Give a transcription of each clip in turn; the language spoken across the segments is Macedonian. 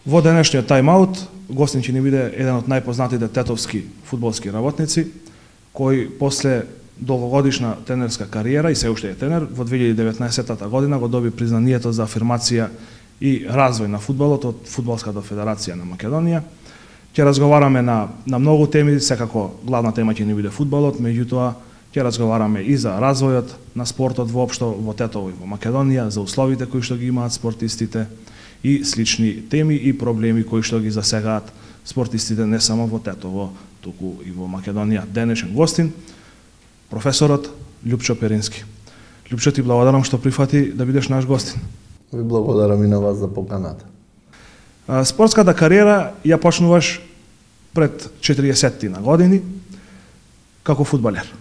Во денешниот тайм-аут, гостин ќе ни биде еден од најпознатите тетовски фудбалски работници, кој после долгогодишна тренерска кариера и се уште е тренер, во 2019 година го доби признанието за афирмација и развој на фудбалот од Фудбалската федерација на Македонија. Ќе разговараме на многу теми, секако главна тема ќе ни биде фудбалот, меѓутоа ќе разговараме и за развојот на спортот воопшто во Тетово и во Македонија, за условите кои што ги имаат спортистите и слични теми и проблеми кои што ги засегаат спортистите не само во Тетово, туку и во Македонија. Денешен гостин, професорот Љупчо Перински. Љупчо, ти благодарам што прифати да бидеш наш гостин. Ви благодарам и на вас за поканата. Спортската кариера ја почнуваш пред 40 на години како фудбалер.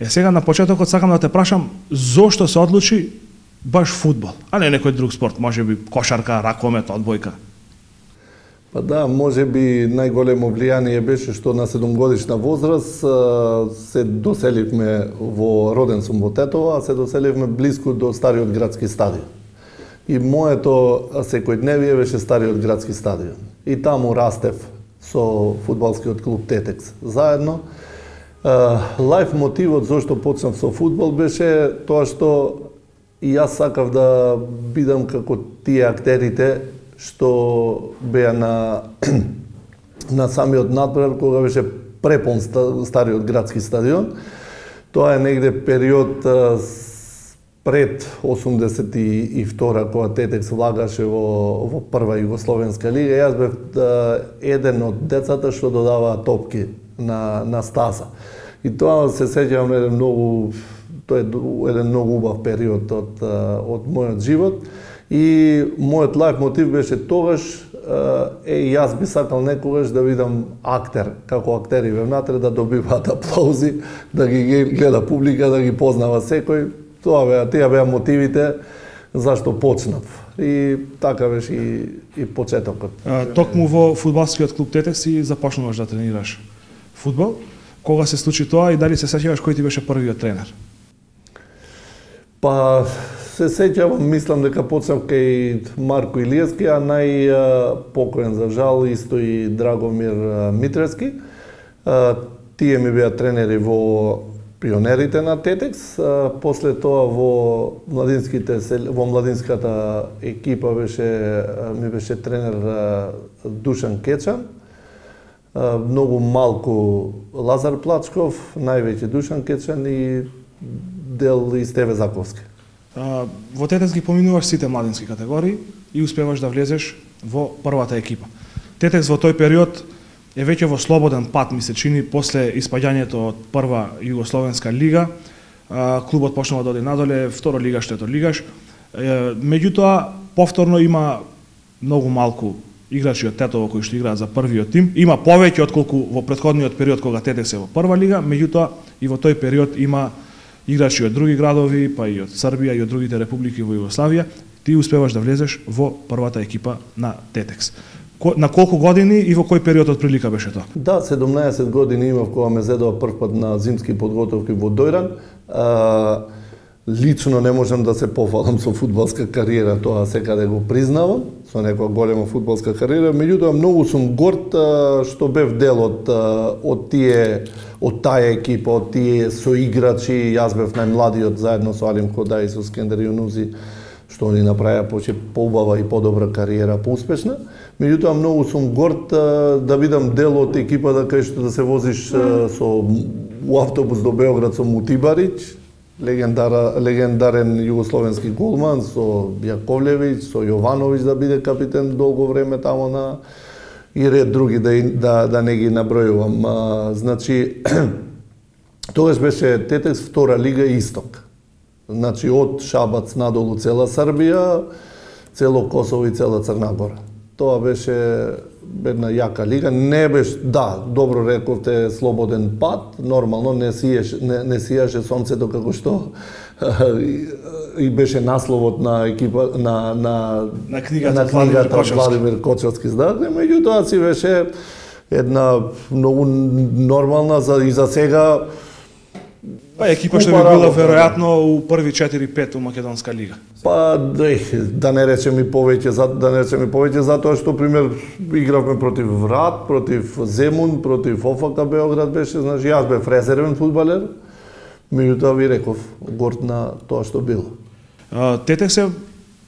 Сега на почетокот сакам да те прашам зошто се одлучи баш фудбал, а не некој друг спорт, можеби кошарка, ракомет, одбојка? Па да, можеби најголемо влијание беше што на 7-годишна возраст се доселивме роден сум во Тетово, а се доселивме близко до стариот градски стадион. И моето секојдневие беше стариот градски стадион. И таму растев со фудбалскиот клуб Тетекс заедно. Лајф мотивот зашто почнав со фудбал беше тоа што и јас сакав да бидам како тие актерите што беа на самиот надпревар кога беше препон стариот градски стадион. Тоа е негде период пред 82 кога Тетекс влагаше во прва југословенска лига. Јас бев еден од децата што додаваа топки на стаза. И тоа се сеќавам на еден многу убав период од мојот живот. И мојот лајф мотив беше тогаш, јас би сакал некогаш да видам актер, како актери внатре да добиваат аплаузи, да ги гледа публика, да ги познава секој. Тие беа мотивите зашто почнав. И така беше и почетокот. Токму во фудбалскиот клуб Тетекс и започнуваш да тренираш фудбал. Кога се случи тоа и дали се сеќаваш кој ти беше првиот тренер? Па се сеќавам, мислам дека почнав кај Марко Илиевски, а најпокоен за жал исто и Драгомир Митревски. Тие ми беа тренери во пионерите на Тетекс. После тоа во младинската екипа ми беше тренер Душан Кечан. Многу малку Лазар Плачков, највеќе Душан Кечан и дел и Стеве Заковски. Во Тетекс ги поминуваш сите младински категории и успеваш да влезеш во првата екипа. Тетекс во тој период е веќе во слободен пат, ми се чини, после испаѓањето од прва југословенска лига. Клубот почнува да оди надоле, второ лигаш, трето лигаш. Меѓутоа, повторно има многу малку играчи од Тетово кои што играат за првиот тим. Има повеќе отколку во претходниот период кога Тетекс е во прва лига, меѓутоа и во тој период има играчи од други градови, па и од Србија и од другите републики во Југославија. Ти успеваш да влезеш во првата екипа на Тетекс. На колку години и во кој период од прилика беше тоа? Да, 17 години имав кога ме зедоа прв пат на зимски подготовки во Дојран. Лично не можам да се пофалам со фудбалска кариера, тоа секаде го признавам, со некоја голема фудбалска кариера, меѓутоа многу сум горд што бев дел од таа екипа, од тие соиграчи. Јас бев најмладиот заедно со Алим Ходај и со Скендер Јунузи, што они направија поубава и подобра кариера, поуспешна. Меѓутоа многу сум горд да бидам дел од екипата кај што да се возиш у автобус до Београд со Мутибарич, легендарен југословенски голман, со Јаковлевиќ, со Јовановиќ да биде капитен долго време тамо и ред други да не ги набројувам. Значи, тогаш беше Тетекс втора лига Исток. Значи, од Шабац надолу цела Србија, цело Косово и цела Црна Гора. Тоа беше една јака лига. Не беше, да, добро рековте, слободен пат, нормално, не сијаше сонцето како што и беше насловот на екипа на книгата Владимир Кочовски здраве, меѓутоа си беше една многу нормална и за сега Па екипа што би била веројатно у први 4-5 у Македонска лига. Па да не речем и повеќе затоа што пример игравме против Врат, против Земун, против ОФК Београд беше, значи јас бев резервен фудбалер. Меѓутоа ви реков горд на тоа што било. Тетекс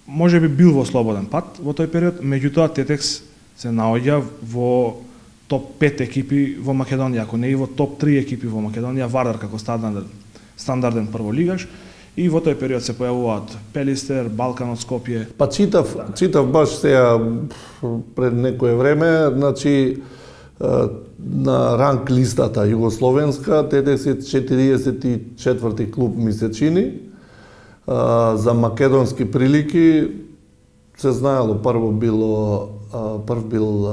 можеби бил во слободен пат во тој период, меѓутоа Тетекс се наоѓа во топ 5 екипи во Македонија, ако не и во топ 3 екипи во Македонија, Вардар како стандарден прволигаш, и во тој период се појавуваат Пелистер, Балкан од Скопје. Па читав баш сега пред некое време, значи на ранг листата југословенска, Тетекс е 44-ти клуб месечини. За македонски прилики се знаело прв бил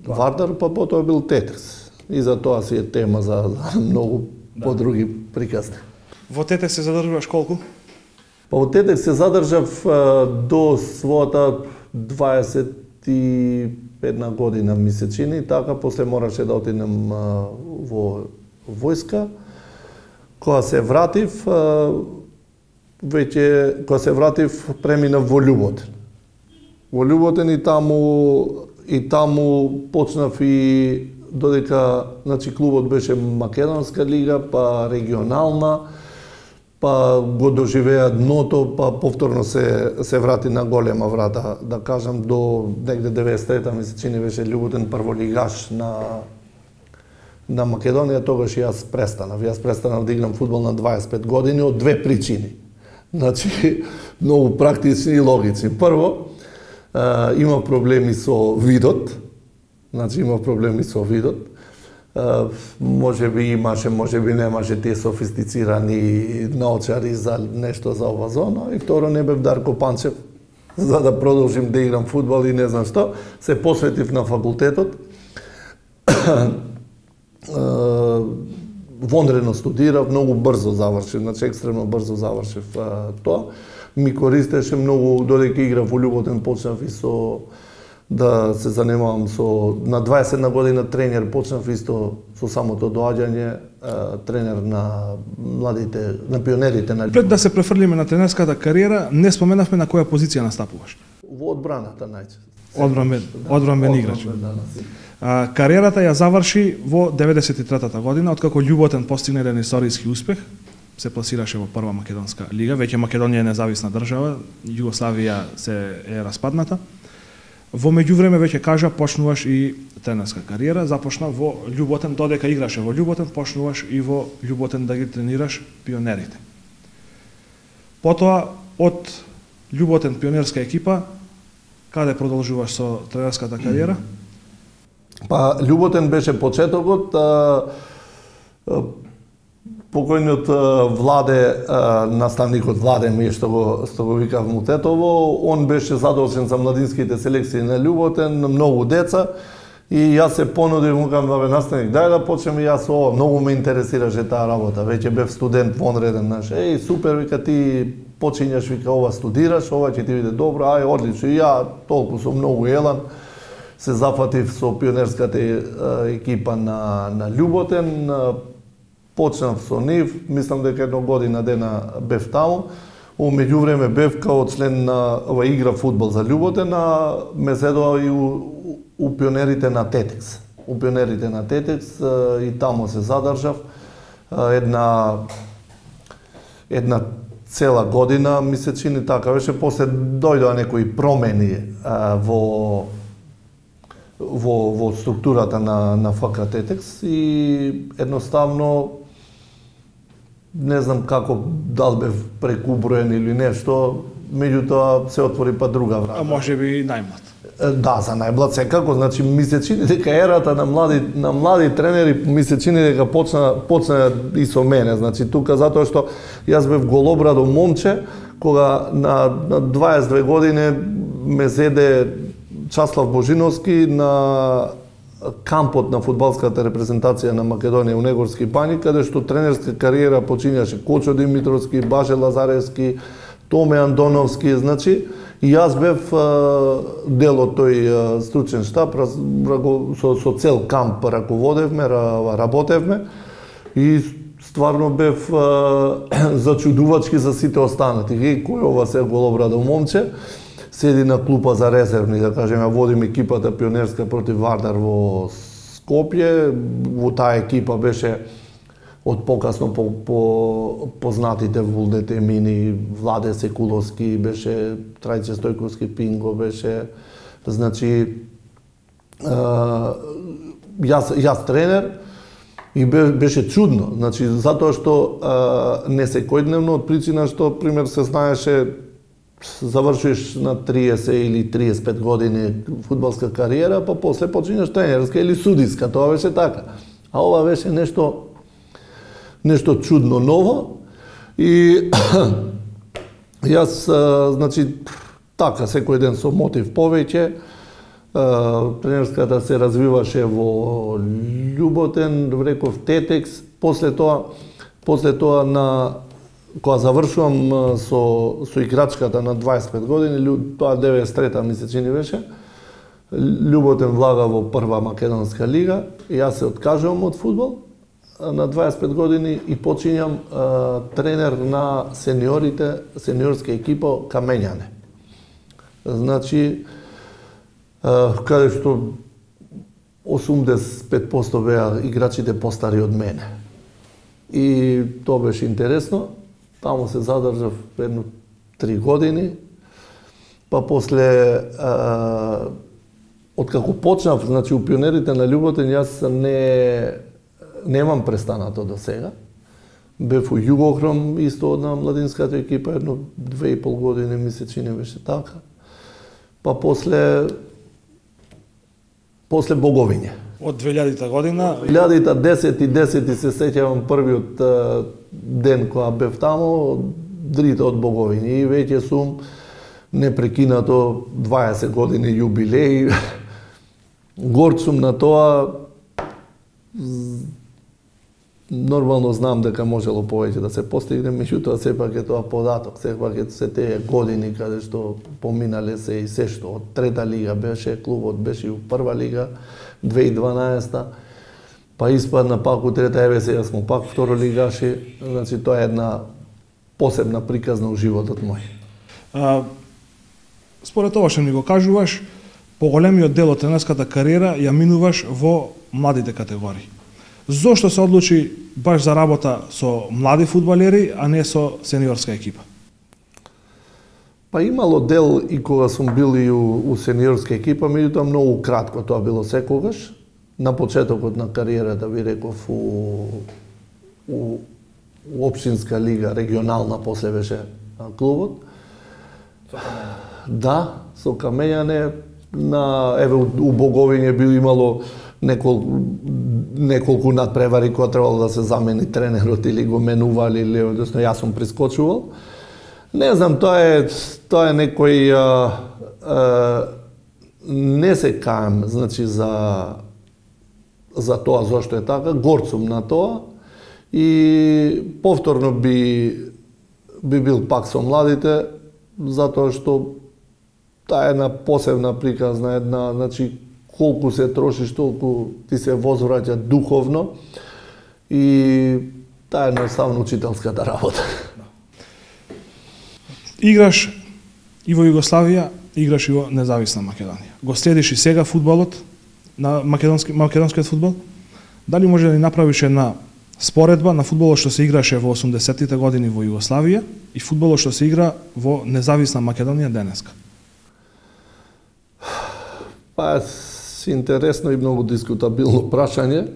Вардар, па потоа бил Тетекс. И за тоа си е тема за многу подруги приказни. Во Тетекс се задржуваш колку? Па во Тетекс се задржав до својата 21 година месечини, така после мораше да отидем во војска. Кога се вратив, преминав во Љуботен. Во Љуботен и таму почнав и додека значи клубот беше Македонска лига, па регионална, па го доживеа дното, па повторно се врати на голема врата, да кажам до негде 93-та месечини беше Љуботен прволигаш на Македонија, тогаш јас престанав. Јас престанав да играм фудбал на 25 години од две причини. Значи многу практични и логични. Прво, има проблеми со видот. Може би имаше, може би немаше тие софистицирани наочари за нешто за ова зона. И второ, не бев Дарко Панчев, за да продолжим да играм фудбал и не знам што. Се посветив на факултетот. Вонредно студирав, многу брзо завршив, значи екстремно брзо завршив тоа. Ми користеше многу, додека играв во Љуботен, почнав и да се занимавам на 21 година тренер, почнав исто со самото доаѓање, тренер на младите, на пионерите на Љуботен. Пред да се префрлиме на тренерската кариера, не споменавме на која позиција настапуваш. Во одбраната најчесто. Одбранбен играч. Кариерата ја заврши во 93-та година, откако Љуботен постигна еден историски успех, се пласираше во прва македонска лига, веќе Македонија е независна држава, Југославија е распадната. Во меѓувреме, веќе кажа, почнуваш и тренерска кариера, започна во Љуботен, додека играше во Љуботен, почнуваш и во Љуботен да ги тренираш пионерите. Потоа, од Љуботен пионерска екипа, каде продолжуваш со тренерската кариера? Па, Љуботен беше почетокот. Покојниот Владе, наставникот Владе ми што го викав му Тетово, он беше задолжен за младинските селекции на Љуботен, многу деца, и јас се понудив, му кажам, бабе наставник, дај да почнеме јас ова, многу ме интересираше таа работа, веќе бев студент вонреден, наш, супер, вика ти почињаш, вика ова студираш, ова ќе ти биде добро, одлично, и ја толку со многу елан се зафатив со пионерската екипа на Љуботен, почнав со нив, мислам дека една година дена бев таму. Во меѓувреме бев као член на игра фудбал за Љуботен, а ме седоа и у пионерите на Тетекс. У пионерите на Тетекс и таму се задржав една цела година, ми се чини така беше, после дојдоа некои промени во структурата на ФК Тетекс и едноставно не знам како, дал бев прекуброен или нешто, меѓутоа се отвори па друга врата. А може би најмлад. Да, за најмлад секако, значи ми се чини дека ерата на млади тренери ми се чини дека почна и со мене, значи тука затоа што јас бев голобрадо момче, кога на 22 години ме зеде Часлав Божиновски на кампот на фудбалската репрезентација на Македонија у Негорски бањи, каде што тренерска кариера почињаше Кочо Димитровски, Баже Лазаревски, Томе Андоновски, значи, и јас бев дел од тој стручен штаб, со цел камп раководевме, работевме, и стварно бев зачудувачки за сите останати. Кој ова се голобрадо момче, седи на клупа за резервни, да кажеме, водим екипата пионерска против Вардар во Скопје. Во таа екипа беше од покасно познатите Вулдете Мини, Владе Секуловски, беше Трајче Стојковски Пинго, беше, значи, јас тренер, и беше чудно, значи, затоа што не секојдневно, од причина што, пример, се знаеше, завршиш на 30 или 35 години фудбалска кариера, па после почињаш тренерска или судиска, тоа беше така. А ова беше нешто чудно ново и јас, значи, така, секој ден со мотив повеќе, тренерската се развиваше во Љуботен, реков Тетекс, после тоа кога завршувам со играчката на 25 години, тоа 93-та ми се чини беше, Љуботен влага во прва македонска лига, и јас се откажувам од фудбал на 25 години и почињам тренер на сениорска екипа Камењане. Значи, каде што 85% беа играчите постари од мене. И тоа беше интересно. Таму се задржав едно 3 години. Па после, откако почнав, значи, у пионерите на Љуботен, јас немам престанато до сега. Бев у Југохром, исто од на младинската екипа, едно 2,5 години ми се чини беше така. Па после Боговиње. Од 2000-та година? 2010 се сеќавам првиот ден кога бев таму, дрите од Боговиње. И веќе сум непрекинато 20 години јубилеј. Горд сум на тоа. Нормално знам дека можело повеќе да се постигне, меѓутоа сепак е тоа податок, сепак е се тие години каде што поминале се и се што од трета лига беше, клубот беше и у прва лига 2012-та, па испадна пак у трета, еве сега смо пак второ лигаши, значи тоа е една посебна приказна у животот мој. Според ова што ми го кажуваш, поголемиот дел од тренерската кариера ја минуваш во младите категории. Зошто се одлучи баш за работа со млади фудбалери, а не со сениорска екипа? Па имало дел и кога сум бил и у сениорска екипа, меѓутоа многу кратко тоа било секогаш. На почетокот на кариерата, ви реков, у општинска лига, регионална, после беше клубот. Да, со Камењане, еве у Боговиње би имало неколку надпревари кога требало да се замени тренерот или го менували, или односно јас сум прискочувал. Не знам, тоа е некој не се каем, значи за тоа зошто е така, горд сум на тоа и повторно би бил пак со младите, затоа што таа е една посебна приказна, значи колку се трошиш, толку ти се возвраќа духовно и таа е едноставно учителската работа. Играш и во Југославија, играш и во независна Македонија. Го следиш и сега фудбалот, на македонскиот фудбал. Дали може да ни направиш една споредба на фудбалот што се играше во 80-тите години во Југославија и фудбалот што се игра во независна Македонија денеска? Па, интересно и многу дискутабилно прашање.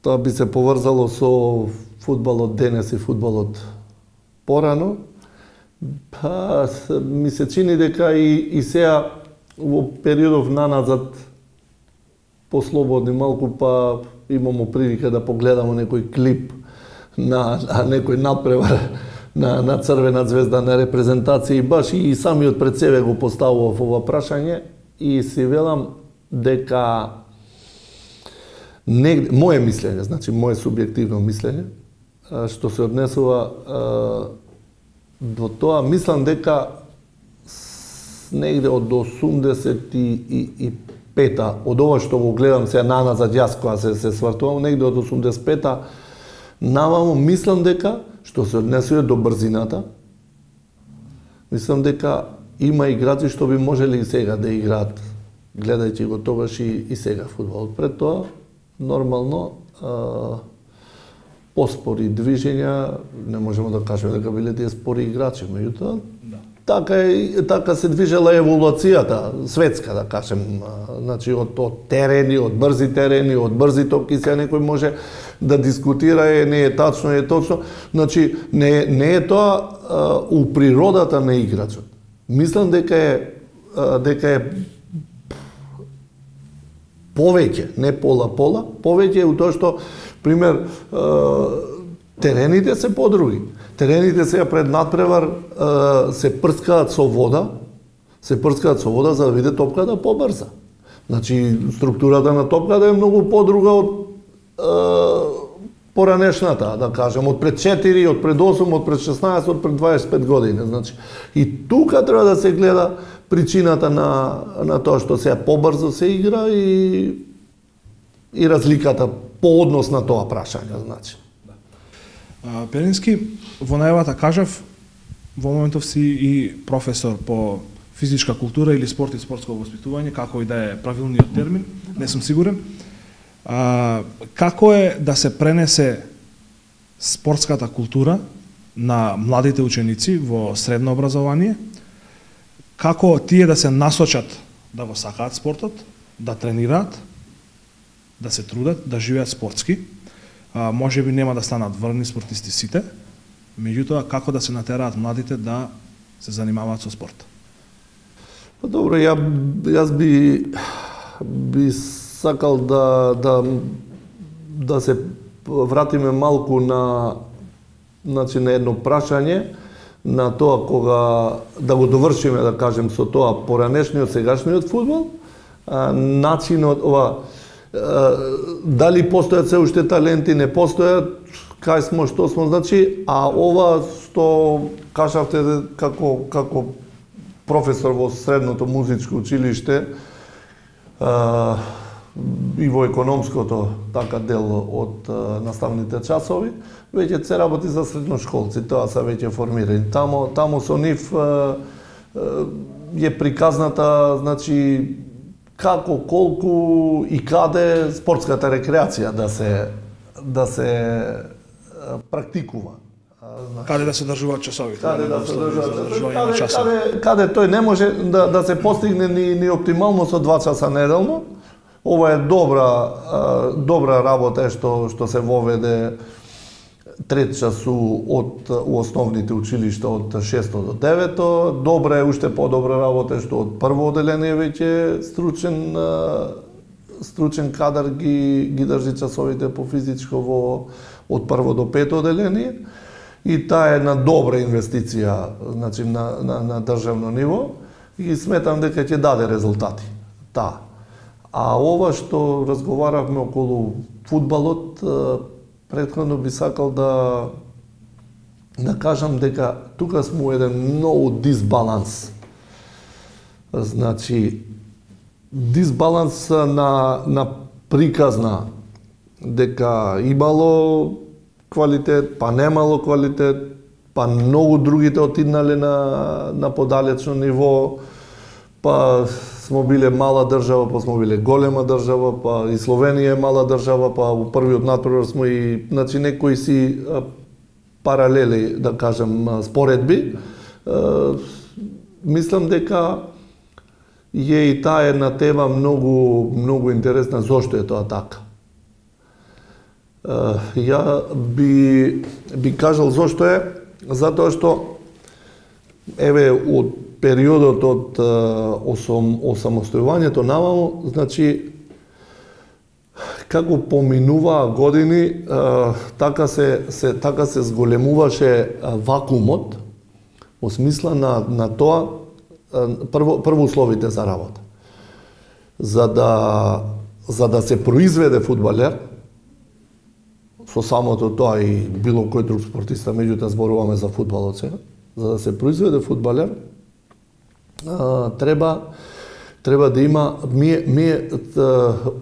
Тоа би се поврзало со фудбалот денес и фудбалот порано. Па, ми се чини дека и сега во периодов наназад послободни малку, па имамо прилика да погледамо некој клип на некој надпревар на Црвена звезда на репрезентација и баш и самиот пред себе го поставував ова прашање и си велам дека моje мислење, значи моje субјективно мислење, што се однесува до тоа, мислам дека негде од 85 85-та, од ова што го гледам сега наназад јас кога се свртувам, негде од 85-та, наваму мислам дека, што се однесува до брзината, мислам дека има играчи што би можели и сега да играат, гледајќи го тогаш и сега фудбал. Пред тоа, нормално, поспори движења, не можеме да кажеме дека биле тие спори играчи, меѓутоа, така се движела еволуцијата, светска, да кажем, значи од терени, од брзи топки, сега некој може да дискутира, не е тачно, е точно, значи не е тоа у природата на играчот. Мислам дека е повеќе, не пола, повеќе е у тоа што, пример, терените се подруги. Терените сега пред надпревар се прскаат со вода, за да биде топката побрза. Значи, структурата на топката е многу подруга од поранешната, да кажем, од пред 4, од пред 8, од пред 16, од пред 25 години. Значи, и тука треба да се гледа причината на тоа што сега побрзо се игра и разликата по однос на тоа прашање, значи. Перински, во најавата кажав, во моментов си и професор по физичка култура или спорт и спортско воспитување, како и да е правилниот термин, не сум сигурен. Како е да се пренесе спортската култура на младите ученици во средно образование? Како тие да се насочат да го сакаат спортот, да тренираат, да се трудат, да живеат спортски? Може би нема да станат врвни спортисти сите, меѓутоа како да се натераат младите да се занимаваат со спорт? Добро, јас би сакал да се вратиме малку на едно прашање, на тоа кога да го довршиме, да кажем, со тоа поранешниот, сегашниот фудбал, начинот дали постојат се уште таленти, не постојат, кај смо, што смо, значи, а ова што кажавте како професор во средното музичко училиште и во економското така дел од наставните часови, веќе се работи за средношколци, тоа се веќе формирани. Таму со нив е приказната, значи, како, колку и каде спортската рекреација да се практикува. Каде да се држуваат часовите? Каде тој не може да се постигне ни оптимално со 2 часа неделно. Ова е добра работа што се воведе 3 часу од основните училишта од 6 до 9. Добра е, уште подобра работа што од прво оделение веќе стручен кадар ги држи часовите по физичко од прво до 5 оделение. И таа е една добра инвестиција, значи на државно ниво и сметам дека ќе даде резултати. Таа. А ова што разговаравме околу фудбалот, претходно би сакал да кажам дека тука сме у еден многу дисбаланс. Значи, дисбаланс на приказна, дека имало квалитет, па немало квалитет, па многу другите отиднале на подалечно ниво, па смо биле мала држава, па смо биле голема држава, па и Словенија е мала држава, па во првиот надпревар смо и, значи, некои си паралели, да кажем, споредби. Мислам дека е и таа една тема многу интересна, зошто е тоа така. Ја би кажал зошто е, затоа што еве од периодот од осамостојувањето наваму, значи како поминуваа години, така се зголемуваше вакуумот во смисла на тоа, прво условите за работа. За да се произведе фудбалер, со самото тоа и било кој друг спортиста, меѓутоа зборуваме за фудбалот сега, за да се произведе фудбалер, треба да има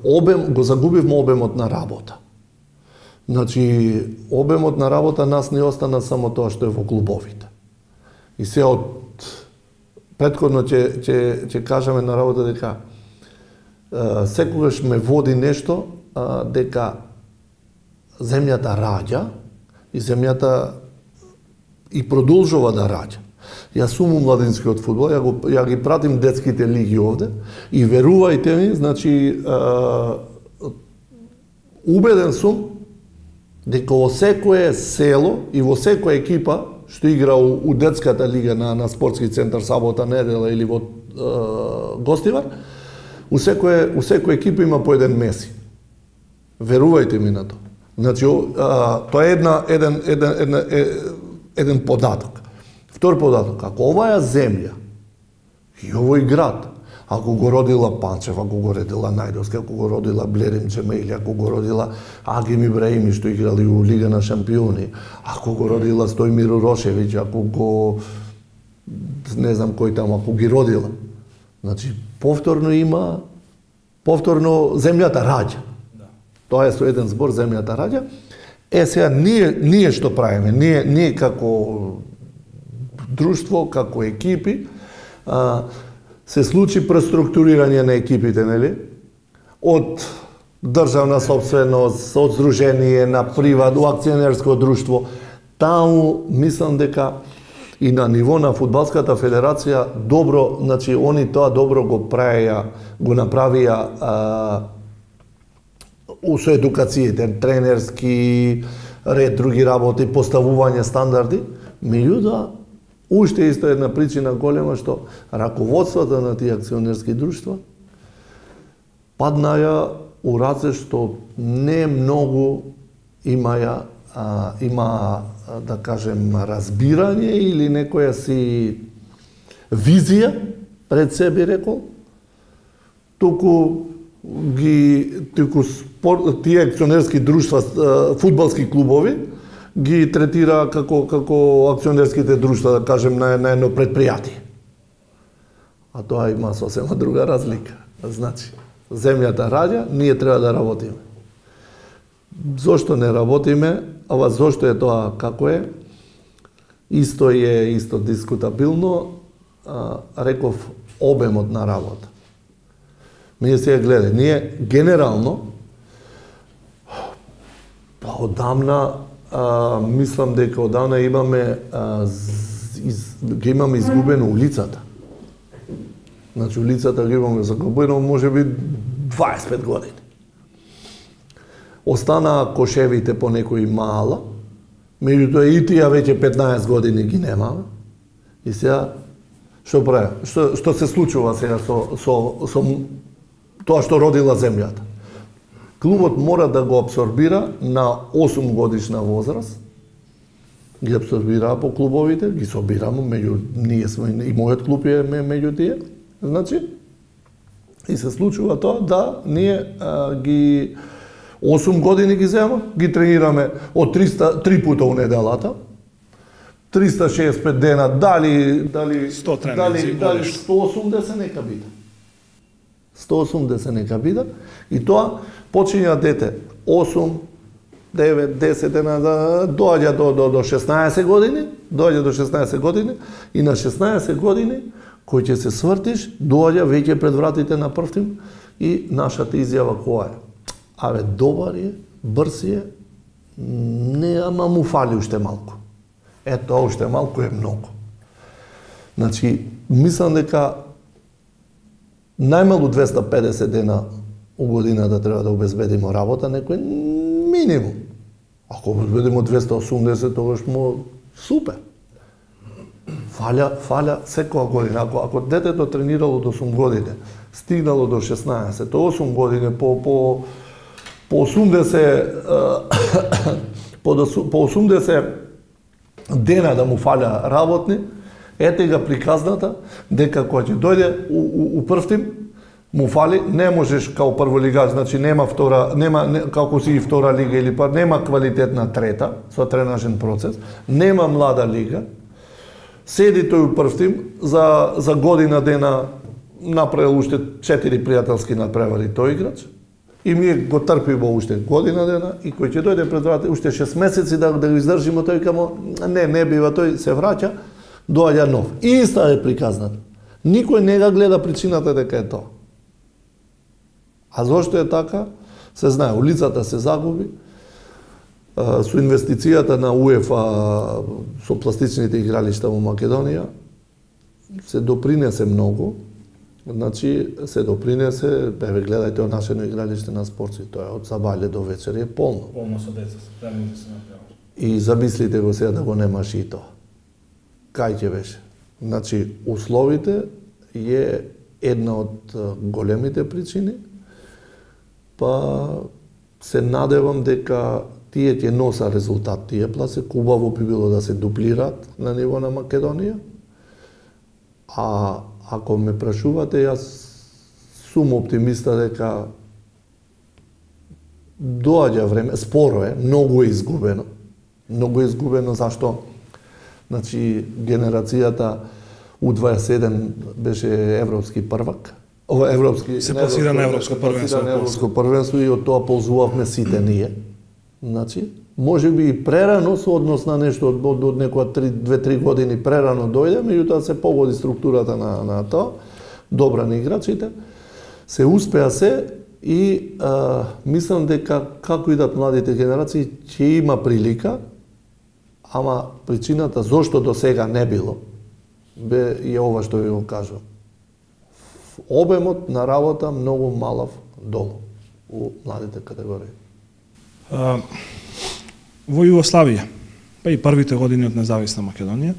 обем, го загубивме обемот на работа. Значи, обемот на работа нас не остана само тоа што е во клубовите. И се од претходно ќе кажеме на работа дека секогаш ме води нешто дека земјата раѓа и земјата и продолжува да раѓа. Јас сум младинскиот фудбал, ја ги пратим детските лиги овде и верувајте ми, значи убеден сум дека во секое село и во секоја екипа што игра у детската лига на спортски центар сабота, недела или во Гостивар, у секоја екипа има по еден Меси. Верувајте ми на тоа. Значи тоа е еден податок. Втор податок, ако оваа земја и овој град, ако го родила Панчев, ако го родила Најдовски, ако го родила Блерим Джемејли, ако го родила Агим Ибраими што играли у Лига на шампиони, ако го родила Стојмир Урошевиќ, ако го не знам кој таму, ако ги родила. Значи повторно земјата раѓа. Да. Тоа е со еден збор, земјата раѓа. Сега ние што правиме? Ние како друштво, како екипи, се случи преструктурирање на екипите, нели? Од државна собственост, од здружение на приват, акционерско друштво. Таму мислам дека и на ниво на фудбалската федерација добро, значи они тоа добро го направија со едукациите, тренерски ред, други работи, поставување стандарди, меѓутоа уште исто една причина голема што раководството на тие акционерски друштва паднаја у раце што не многу има да кажем разбирање или некоја си визија пред себе, рекол, туку тие акционерски друштва, фудбалски клубови ги третира како акционерските друштва, да кажем, на едно предпријатие. А тоа има сосема друга разлика. Значи, земјата раѓа, ние треба да работиме. Зошто не работиме? Ова зошто е тоа како е? Исто дискутабилно, реков обемот на работа. Ние сега гледај, ние генерално одамна мислам дека одамна имаме изгубено улицата. Значи улицата ги имаме загубено можеби 25 години. Останаа кошевите по некои мала, меѓутоа и тие веќе 15 години ги немаме. И сега што прави? Што се случува сега со тоа што родила земјата? Клубот мора да го абсорбира на 8 годишна возраст. Ги абсорбираа по клубовите, ги собираме, меѓу ние сме, и мојот клуб е меѓу тие. Значи, и се случува тоа да ние ги 8 години ги земаме, ги тренираме од 3 пута у неделата, 365 дена, дали 100 тренинзи, дали 180 нека биде. 180 нека биде и тоа почиња дете 8, 9, 10 дена, доаѓа до 16 години, и на 16 години кој ќе се свртиш, доаѓа веќе пред вратите на првтим и нашата изјава која е? Абе, добар е, брз е, не, ама му фали уште малку. Ето, уште малку е многу. Значи, мислам дека најмалку 250 дена у годината треба да обезбедиме работа, некој минимум. Ако обезбедиме 280, тогаш му супер. Фаля секоја година. Ако детето тренирало до 8 години, стигнало до 16, 8 години, по 80 дена да му фаля работни, ете ga приказната дека кога ќе дојде у првтим, му фали, не можеш као прволигач, значи нема како си и втора лига или па нема квалитетна трета со тренажен процес, нема млада лига. Седи тој у првтим, за година дена направил уште 4 пријателски надпревари тој играч. И ми го трпиме уште година дена и кој ќе дојде пред врата уште 6 месеци да го издржиме тој камо не бива, тој се враќа, доаѓа нов. И иста е приказната. Никој не го гледа причината дека е тоа. А зошто е така? Се знае, улицата се загуби, со инвестицијата на УЕФА со пластичните игралишта во Македонија се допринесе многу. Значи, се допринесе, гледајте о нашето игралиште на Спорци, тоа е од сабајле до вечер е полно. Полно со деца, премните се направи. И замислите го сега да го немаш и тоа. Кај ќе беше? Значи, условите е една од големите причини, па се надевам дека тие ќе носа резултат, тие пласе, убаво би било да се дуплираат на ниво на Македонија, а ако ме прашувате, јас сум оптимиста дека доаѓа време, споро е, многу е изгубено. Многу е изгубено, зашто? Значи, генерацијата U21 беше европски првак. Ова европски се пласира на европско првенство и од тоа ползувавме сите ние. Значи, може би и прерано со однос на нешто од некоја 2-3 години прерано дојде, меѓутоа се погоди структурата на тоа, добра на играчите, се успеа се и мислам дека како идат младите генерации ќе има прилика, ама причината зошто до сега не било е ова што ви го кажувам. Обемот на работа многу малав долу у младите категории. Во Југославија, па и првите години од независна Македонија,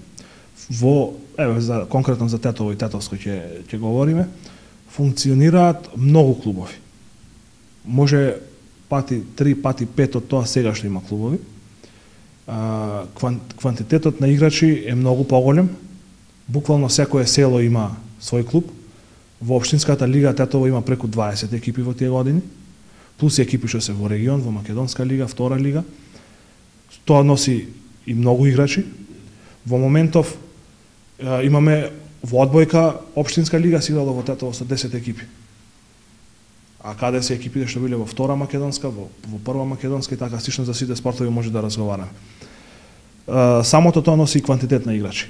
конкретно за Тетово и Тетовско ќе говориме, функционираат многу клубови. Може пати 3, пати 5 од тоа сега што има клубови. Квантитетот на играчи е многу поголем. Буквално секое село има свој клуб. Во општинската лига Тетово има преку 20 екипи во тие години, плюс екипи што се во регион, во Македонска лига, втора лига. Тоа носи и многу играчи. Во моментов имаме во одбојка општинска лига се играло во Тетово со 10 екипи. А каде се екипите што биле во втора македонска, во прва македонска и така слично за сите спортови може да разговараме. Самото тоа носи и квантитет на играчи.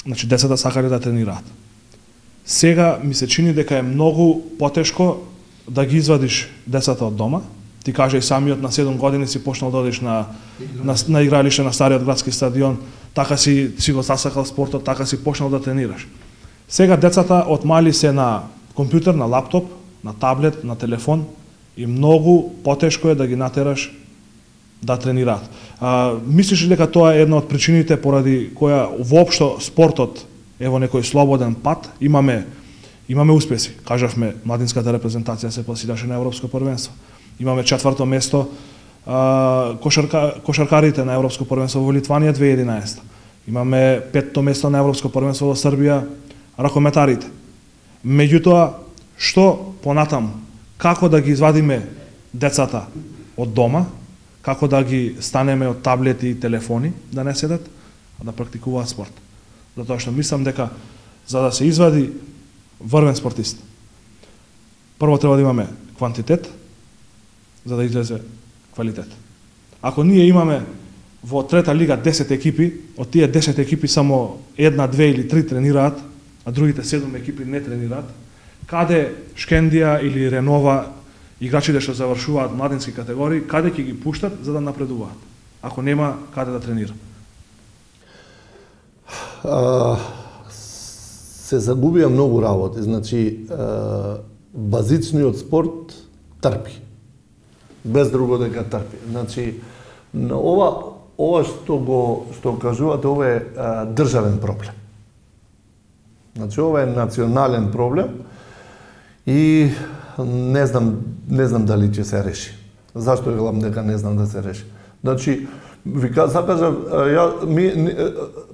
Значи децата сакале да тренираат. Сега ми се чини дека е многу потешко да ги извадиш децата од дома. Ти кажа и самиот на 7 години си почнал да одиш на игралиште на стариот градски стадион, така си го засакал спортот, така си почнал да тренираш. Сега децата од мали се на компјутер, на лаптоп, на таблет, на телефон и многу потешко е да ги натераш да тренираат. Мислиш ли дека тоа е една од причините поради која воопшто спортот е во некој слободен пат? Имаме успеси. Кажавме, младинската репрезентација се пласираше на европско првенство. Имаме 4-то место кошаркарите на европско првенство во Литванија 2011. Имаме 5-то место на европско првенство во Србија ракометарите. Меѓутоа, што понатаму? Како да ги извадиме децата од дома? Како да ги станеме од таблети и телефони, да не седат, а да практикуваат спорт? Затоа што мислам дека за да се извади врвен спортист, прво треба да имаме квантитет, за да излезе квалитет. Ако ние имаме во трета лига 10 екипи, од тие 10 екипи само 1, 2 или 3 тренираат, а другите 7 екипи не тренираат, каде Шкендија или Ренова, играчите што завршуваат младински категории, каде ќе ги пуштат за да напредуваат, ако нема каде да тренира? Се загубија многу работи. Значи, базичниот спорт трпи. Без друго дека трпи. Значи, ова што кажувате, ова е државен проблем. Значи, ова е национален проблем и не знам дали ќе се реши. Зашто велам дека не знам да се реши? Значи, закажав,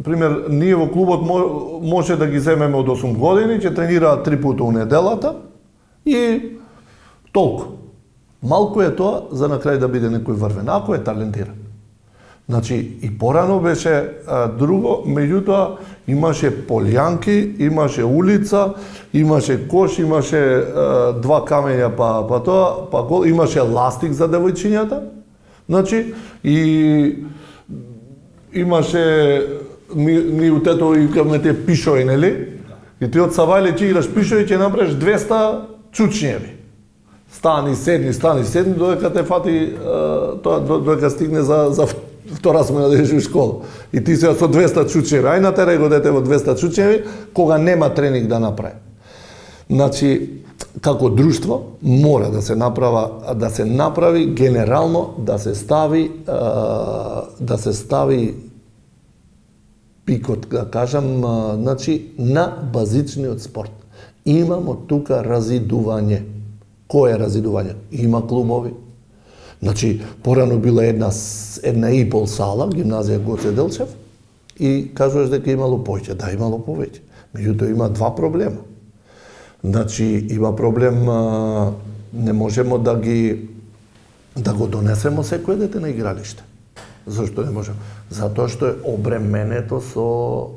пример, ние во клубот може да ги земеме од 8 години, ќе тренираат 3 пута у неделата и толку. Малку е тоа за на крај да биде некој врвен, ако е талентиран. Значи, и порано беше друго, меѓутоа имаше полјанки, имаше улица, имаше кош, имаше два камења па тоа, па гол, имаше ластик за девојчињата. Значи, и имаше ни у тето и каме те пишои, нели? И ти од Савајле ќе играш пишои, ќе направиш 200 чучњеви. Стани седни, додека те фати тоа, додека стигне за втора смена да идеш у школа. И ти се со 200 чучњеви. Ај натерај го дете во 200 чучњеви, кога нема тренинг да направи. Значи, како друштво мора да се направи генерално, да се стави пикот, да кажам, значи, на базичниот спорт. Имамо тука разидување. Кој е разидување? Има клубови. Значи, порано била една и пол сала, гимназија Гоце Делчев, и кажуваш дека имало повеќе. Да, имало повеќе. Меѓутоа има два проблема. Значи, има проблем, не можемо да го донесемо секој дете на игралиште. Зашто не можемо? Затоа што е обременето со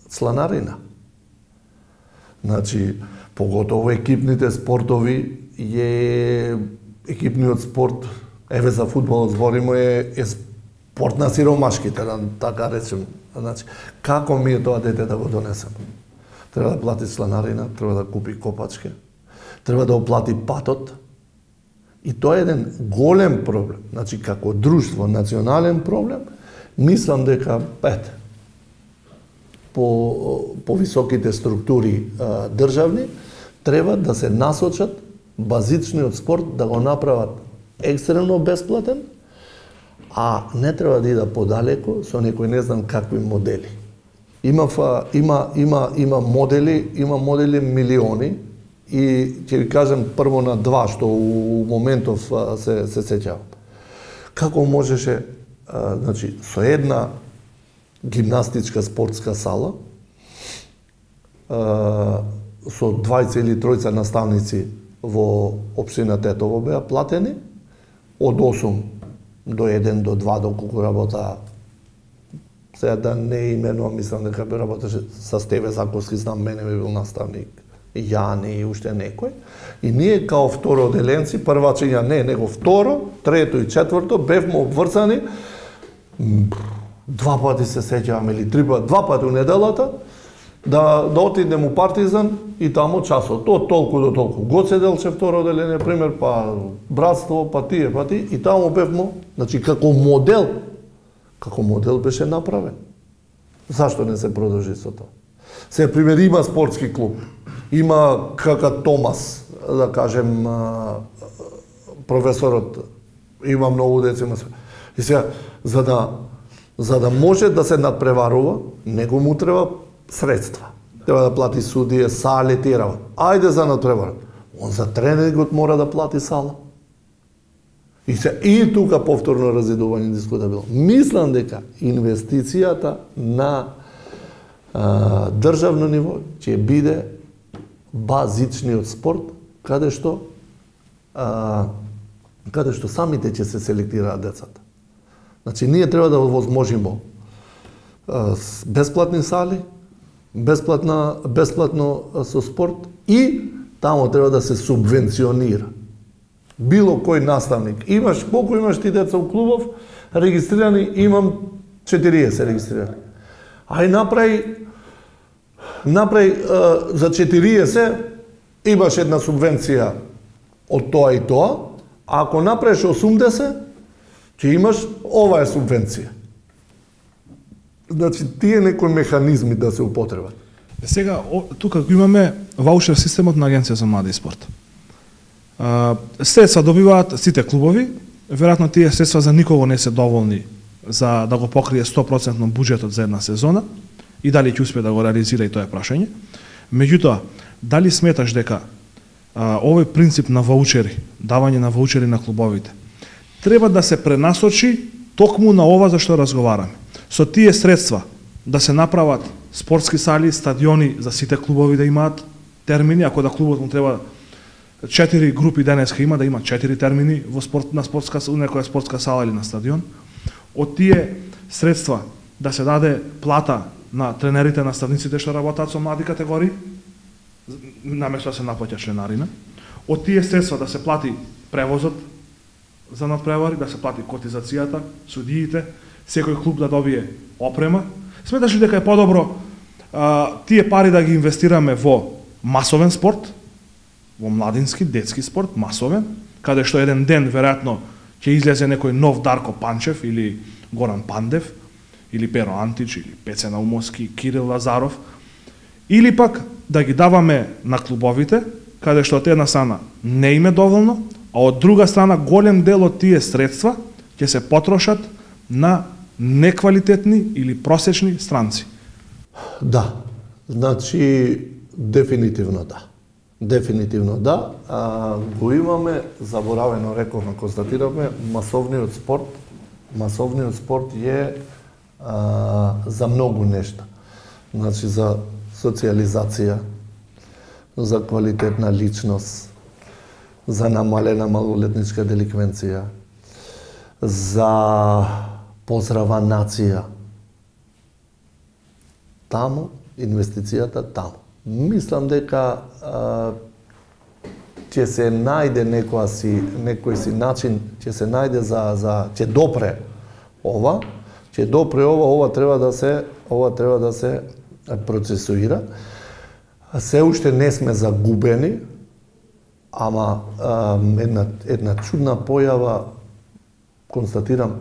сланарина. Значи, поготово екипните спортови екипниот спорт, еве за фудбалот збориме, е спорт на сиромашките, така речем. Значи, како ми е тоа дете да го донесемо? Треба да плати сланарина, треба да купи копачки, треба да оплати патот. И тоа е еден голем проблем. Значи, како друштво, национален проблем, мислам дека, по високите структури државни, треба да се насочат базичниот спорт да го направат екстремно бесплатен, а не треба да ида подалеку со некои не знам какви модели. Има модели милиони, и ќе ви кажам прво на два што у моментов се сеќавам. Како можеше, значи, со една гимнастичка спортска сала, со 20 или 30 наставници во општина Тетово беа платени, од 8 до 1 до 2 доколку работа. Сега да не именувам, мислам дека би работеше со Стеве Заковски, знам, мене би бил наставник, Јани и уште некој. И ние као второ оделенци, првачиња не, него второ, трето и четврто, бевме обврзани, два пати се сеќавам, или два пати у неделата, да отидем у Партизан и таму часот, од толку до толку. Гоце Делчев второ оделение, пример, па Братство, па тие, и таму бевме, значи како модел беше направен. Зашто не се продолжи со тоа? Се пример, има спортски клуб, има кака Томас, да кажем, професорот, има многу деца. И сега, за да може да се надпреварува, него му треба средства. Треба да плати судија, сали, тирава. Ајде за надпреварување. Он за тренингот мора да плати сала. И тука повторно разидување дискутабилно. Мислам дека инвестицијата на државно ниво ќе биде базичниот спорт, каде што самите ќе се селектираат децата. Значи, ние треба да овозможимо бесплатни сали, бесплатно со спорт, и тамо треба да се субвенционира. Било кој наставник. Колку имаш ти деца у клубов, регистрирани, имам 40 регистрирани. Ај направи за 40, имаш една субвенција од тоа и тоа, а ако направиш 80, ќе имаш оваа субвенција. Значи, тие некои механизми да се употребат. Сега, тука имаме ваучер системот на Агенција за млади и спорт. Средства добиваат сите клубови, веројатно тие средства за никого не се доволни за да го покрие 100% буџетот за една сезона, и дали ќе успее да го реализира, и тоа е прашање. Меѓутоа, дали сметаш дека овој принцип на ваучери, давање на ваучери на клубовите, треба да се пренасочи токму на ова за што разговараме? Со тие средства да се направат спортски сали, стадиони за сите клубови да имаат термини, ако да клубот му треба 4 групи денеска има, да има 4 термини во некоја спортска сала или на стадион. од тие средства да се даде плата на тренерите, наставниците што работат со млади категории, наместо да се наплаќа членарина, од тие средства да се плати превозот за надпревари, да се плати котизацијата, судиите, секој клуб да добие опрема. Сметаш ли дека е подобро тие пари да ги инвестираме во масовен спорт, во младински, детски спорт, масовен, каде што еден ден веројатно ќе излезе некој нов Дарко Панчев или Горан Пандев, или Перо Антич, или Пеце Наумовски, Кирил Лазаров, или пак да ги даваме на клубовите, каде што од една страна не име доволно, а од друга страна голем дел од тие средства ќе се потрошат на неквалитетни или просечни странци. Да, значи дефинитивно да. Дефинитивно да. Го имаме, заборавено рековме, констатираме, масовниот спорт. Масовниот спорт е за многу нешта. Значи за социализација, за квалитетна личност, за намалена малолетничка деликвенција, за поздрава нација. Таму, инвестицијата таму. Мислам дека ќе се најде некој си начин, ќе се најде ќе допре ова, ова треба да се процесуира. Се уште не сме загубени, ама една чудна појава констатирам,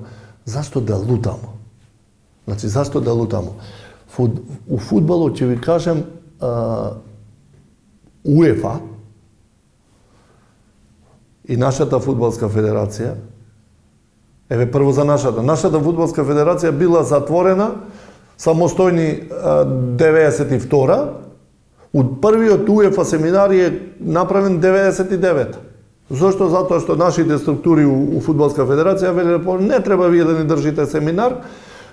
зашто да лутамо? Значи, зашто да лутамо? У фудбалот ќе ви кажем УЕФА и нашата фудбалска федерација, еве прво за нашата фудбалска федерација била затворена самостојни 92-а, од првиот УЕФА семинар е направен 99. Зошто? Затоа што нашите структури у фудбалска федерација велеле не треба вие да ни држите семинар,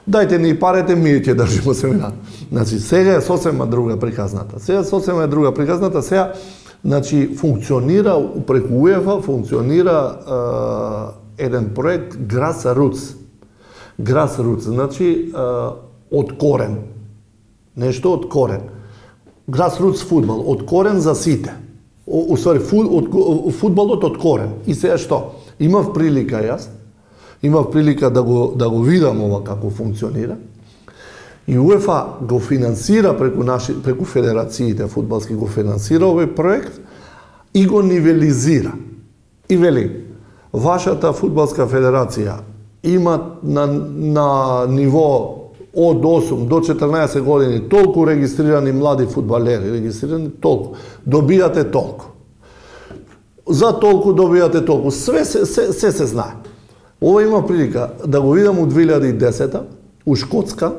дајте ни парите, ние ќе држиме семинар. Значи, сега е сосема друга приказната. Сега, значи, функционира преку УЕФА, функционира еден проект Grassroots. Grassroots, значи, од корен. Нешто од корен. Grassroots фудбал, од корен за сите. Фудбалот од корен. И сега што? Имав прилика да го видам ова како функционира. И УЕФА го финансира преку федерациите фудбалски го финансира овој проект и го нивелизира. И вели, вашата фудбалска федерација има на ниво од 8 до 14 години толку регистрирани млади фудбалери, добијате толку. За толку добијате толку. Све се знае. Ова има прилика да го видам у 2010-та, у Шкотска,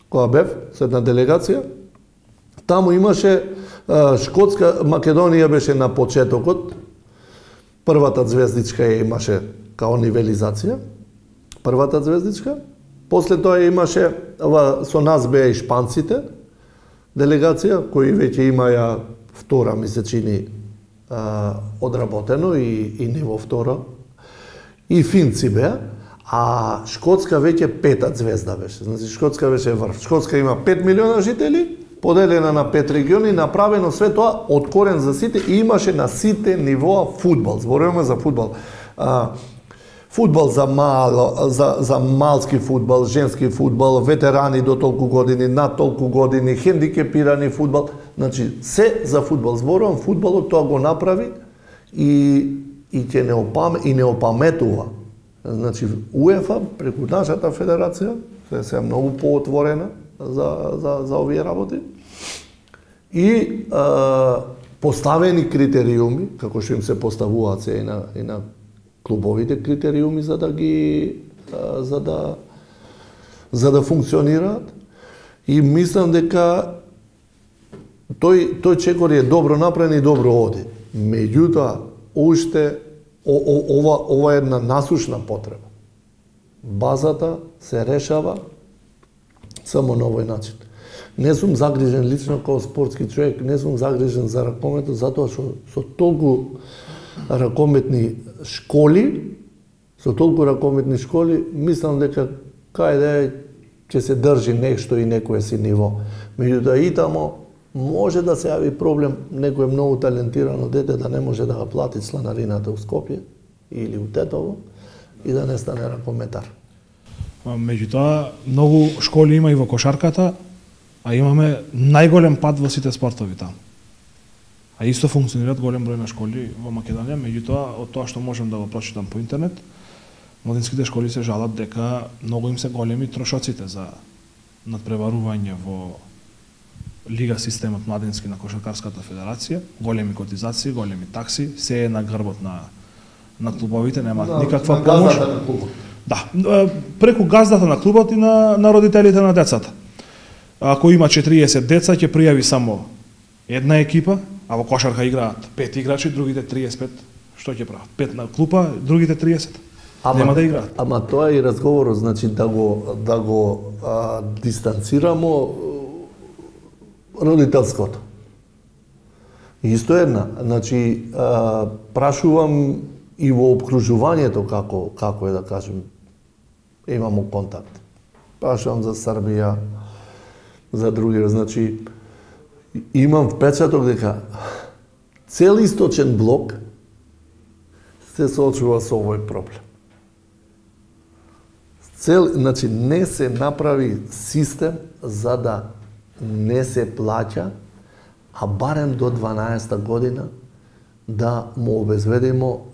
која бев, со една делегација. Таму имаше Шкотска, Македонија беше на почетокот. Првата звездичка ја имаше као нивелизација. Првата звездичка. После тоа имаше, со нас беа и шпанците, делегација, кои веќе имаја втора, ми се чини, одработено и ниво второ. И финци беа, а Шкотска веќе пета звезда беше. Значи, Шкотска беше врв. Шкотска има 5 милиона жители, поделена на 5 региони, направено све тоа од корен за сите и имаше на сите нивоа фудбал. Зборуваме за фудбал. Фудбал за малски фудбал, женски фудбал, ветерани до толку години, над толку години, хендикепирани фудбал. Значи, се за фудбал. Зборувам, фудбалот тоа го направи и не опаметува. Значи, УЕФА, преку нашата федерација, се е многу поотворена за овие работи, и поставени критериуми, како што им се поставуваат се и на клубовите критериуми за да функционираат. И мислам дека тој чекор е добро направен и добро оди. Меѓутоа, уште ова е една насушна потреба. Базата се решава само на овој начин. Не сум загрижен лично како спортски човек, не сум загрижен за ракометот, затоа што со толку ракометни школи, мислам дека каде ќе се држи нешто и некое си ниво. Меѓутоа и тамо може да се јави проблем, некој многу талентирано дете да не може да го плати сланарината у Скопје или у Тетово и да не стане ракометар. Меѓутоа, многу школи има и во кошарката, а имаме најголем пат во сите спортови таму. А исто функционираат голем број на школи во Македонија, меѓутоа, од тоа што можем да го прочитам по интернет, младинските школи се жалат дека многу им се големи трошоците за надпреварување во лига системот младински на Кошаркарската федерација, големи котизации, големи такси, се е на грбот на клубовите, нема никаква помош. Да, преку газдата на клубот и на родителите на децата. Ако има 40 деца, ќе пријави само една екипа, а во кошарка играат 5 играчи, другите 35, што ќе прават? 5 на клупа, другите 30. Нема да играат. Ама тоа е и разговорот, значи да го дистанцирамо родителското. Исто една, значи прашувам и во обкружувањето како е да кажем, имамо контакт. Прашувам за Србија, за други, значи имам впечаток дека цел источен блок се соочува со овој проблем. Значи не се направи систем за да не се плаќа, а барем до 12-та година да му обезведимо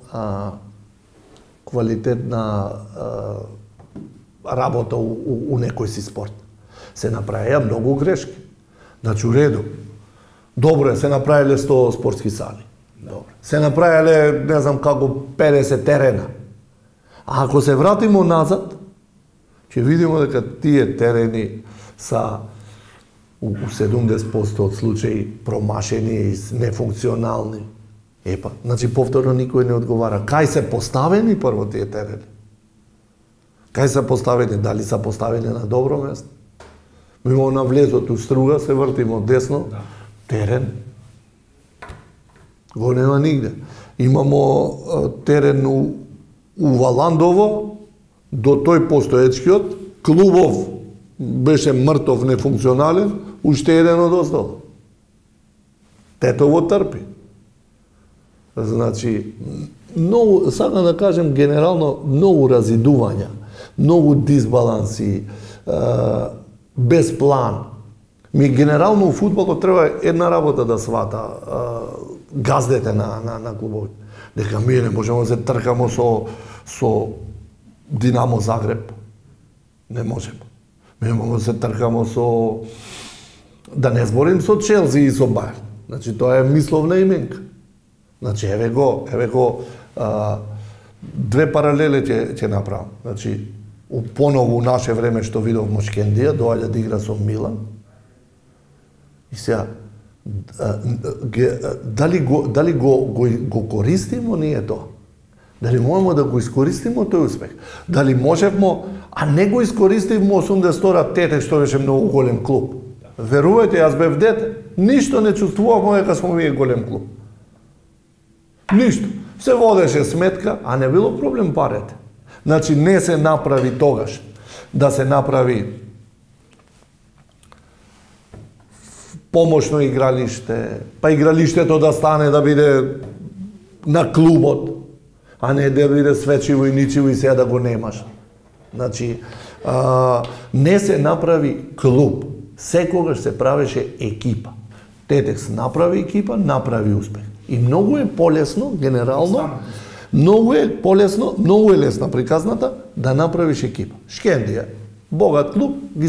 квалитетна работа у некој си спорт. Се направија многу грешки. Значи, уреду. Добро е, се направиле 100 спортски сали. Добро. Се направиле, не знам како, 50 терена. А ако се вратимо назад, ќе видимо дека тие терени са у 70% од случаи промашени и нефункционални. Епа, значи повторно никој не одговара. Кај се поставени прво тие терени? Кај се поставени? Дали се поставени на добро место? Мимо на влезот у Струга, се вртимо десно, терен. Го нема нигде. Имамо терен у Валандово, до тој постоечкиот, клубов беше мртов, нефункционален, уште еден од остало. Тетово трпи. Значи, многу, сакам да кажем генерално, многу разидувања, многу дисбаланси, без план. Генерално у фудбалот треба една работа да свата газдете на клубовите. Дека ми не можеме да се тркамо со Динамо Загреб. Не можеме. Ми можеме да се тркамо со... Да не зборим со Челси и со Бајерн. Значи, тоа е мисловна именка. Значи, еве го, две паралеле ќе направам. Значи, поново у наше време што видов Мошкендија, доаѓа да игра со Милан. И сега, дали го користимо ние тоа? Дали можеме да го искористимо тој успех? Дали можевмо, а не го искористивмо 82-та Тетек, што беше многу голем клуб? Верувајте, јас бев дете, ништо не чувствувавме дека сме вие голем клуб. Ништо. Се водеше сметка, а не било проблем парите. Значи, не се направи тогаш да се направи помошно игралиште, па игралиштето да стане да биде на клубот, а не да биде свечиво и ничиво и сега да го немаш. Значи, не се направи клуб. Секогаш се правеше екипа. Тетекс направи екипа, направи успех. И многу е полесно, генерално, многу е лесна приказната да направиш екипа. Шкендија, богат клуб, ја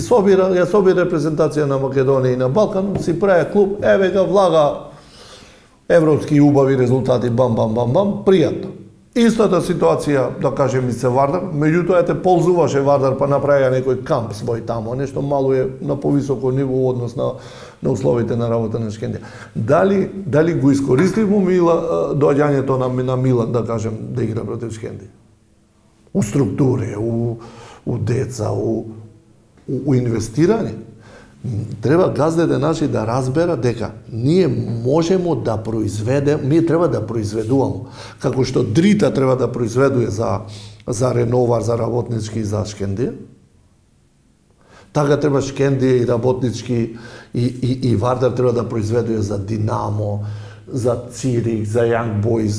собира репрезентација на Македонија и на Балкан, си прави клуб, еве га влага европски убави резултати, бам, пријатно. Истата ситуација, да кажем, и се Вардар, меѓутоа те ползуваше Вардар, па направија некој камп свој тамо, нешто мало е на повисоко ниво однос на условите на работа на Шкендија. Дали го искористивмо доаѓањето на Милан, да кажем, да игра против Шкендија? У структури, у деца, у инвестирање. Треба газдите наши да разбера дека ние можемо да произведеме, ние треба да произведуваме. Како што Дрита треба да произведува за Реновар, за работнички и за Шкендија, Така треба Шкендија и работнички и Вардар треба да произведува за Динамо, за Цирих, за Young Boys,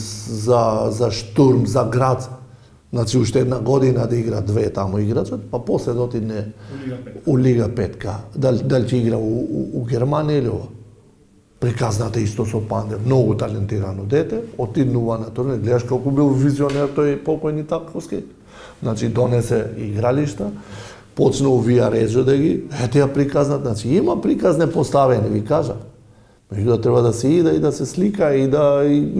за Штурм, за Грац. Значи, уште една година да игра две таму играчот, па после да отидне у Лига 5. Дали ќе игра у Германија или ова? Приказната исто со Пандев, многу талентирано дете, отиднува на турнир, гледаш колку бил визионер тој покојни Таковски. Значи, донесе игралишта, почна увија реджо да ги, тија приказнат, значи има приказне поставени, ви кажа. Меѓутоа треба да се иде и да се слика и